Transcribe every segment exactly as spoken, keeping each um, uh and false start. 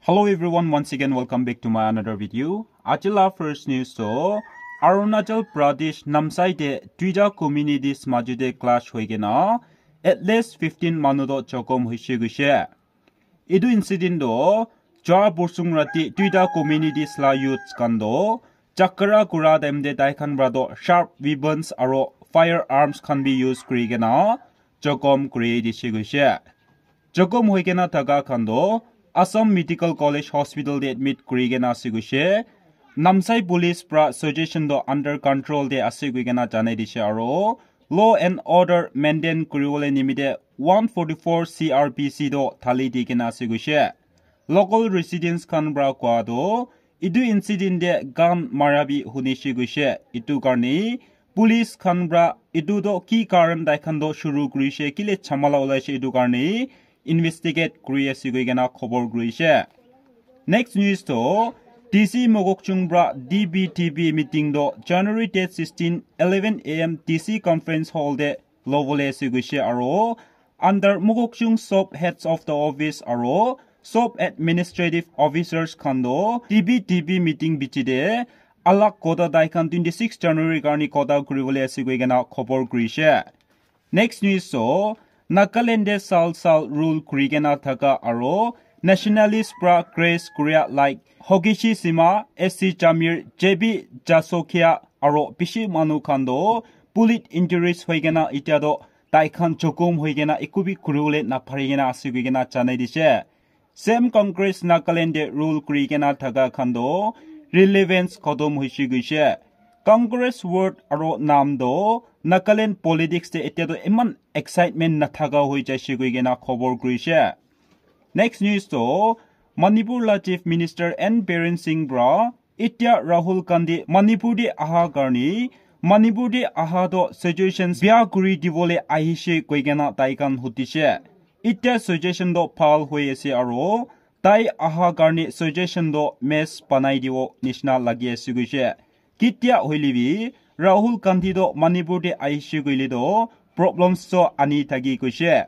Hello everyone, once again welcome back to my another video. Aji la first news to Arunachal Pradesh Namsai te duita communities majo te clash hoi kena at least fifteen manu to jokhom hoise goise. Etu incident to jua borsung rati duita communities la youths khan to jhagara kura time te tai khan para to sharp weapons aro firearms khan bi use kuri kena jokhom kuri dise goise. Jokhom hoi kena thaka khan to Assam Medical College Hospital te admit kuri kena ase goise. Namsai police para situation to under control te ase koi kena janai dise aro law and order maintain kuri bole nimite one forty-four C R P C to thali di kena ase goise. Local residents khan para koa to etu incident te gun mara bi huni se goise. Etu karne police khan para etu to ki karan tai khan to shuru kuri se, kile jhamala ulai se, etu karne investigate kuri ase koi kena khobor kuri se. Next news to D C Mokokchung para D B T B meeting to January date sixteen, eleven A M D C conference hall te lobole ase goise aro under Mokokchung sub heads of the office aro sub administrative officers khan to D B T B meeting bichi te alag kotha tai khan twenty-six January karne kotha kuri bole ase koi kena khobor kuri se. Next news to Nagaland te sal sal rule kuri kena thaka aro nationalist para crash kuria like Hokishi Sima, S C Jamir, J B Jasokia aro bishi manu khan to bullet injuries hoi kena itya to tai khan jokhom hoi kena eku bi kuri bole na pari kena ase koi kena janai dise. Same Congress Nagaland te rule kuri kena thaka khan to relevance khotom hoise goise. Congress word aro naam to Nagaland politics te itya to iman excitement na thaka hoi jaise koi kena khobor kuri se. Next news to Manipur la Chief Minister N Biren Singh para itya Rahul Gandhi Manipur te aha karne Manipur te aha to situation bia kuri dibole ahise koi kena tai khan hudise. Itya situation to bhal hoi ase aro tai aha karne situation to mess banai dibo nishina lagi ase goise. Ketia hoile bi Rahul Gandhi to Manipur te ahise koile to problems to ani thaki goise.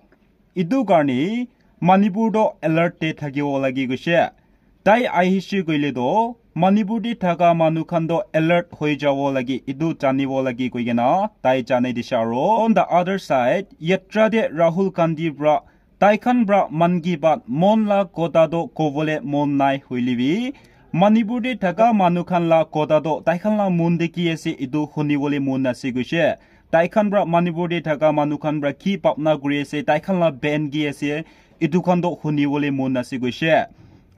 Etu karne Manipur to alert te thakibo lagi goise. Tai ahise koile to Manipur te thaka manu khan to alert hoi jabo lagi, etu janibo lagi koi kena tai janai dise aro. On the other side, yatra te Rahul Gandhi para tai khan para Mann Ki Baat mon la kotha to kobole mon nai hoile bi Manipur te thaka manu khan la kotha to tai khan la mon te ki ase etu huni bole mon ase goise. Tai khan para Manipur te thaka manu khan para ki bhabna kuri ase, tai khan la pain ki ase, etu khan to huni bole mon ase goise.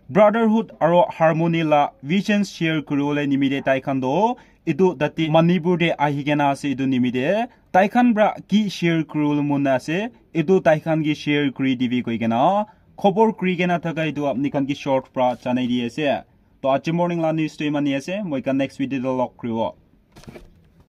Brotherhood aro harmony la vision share kuri bole nimite tai khan to etu tate Manipur te ahi kena ase, etu nimite tai khan para ki share kuri bole mon ase, etu tai khan ki share kuri dibi koi kena khobor kuri kena thaka etu apni khan ki short para janai di ase. To aji morning la news to imani ase, moi khan next video te log kuri bo.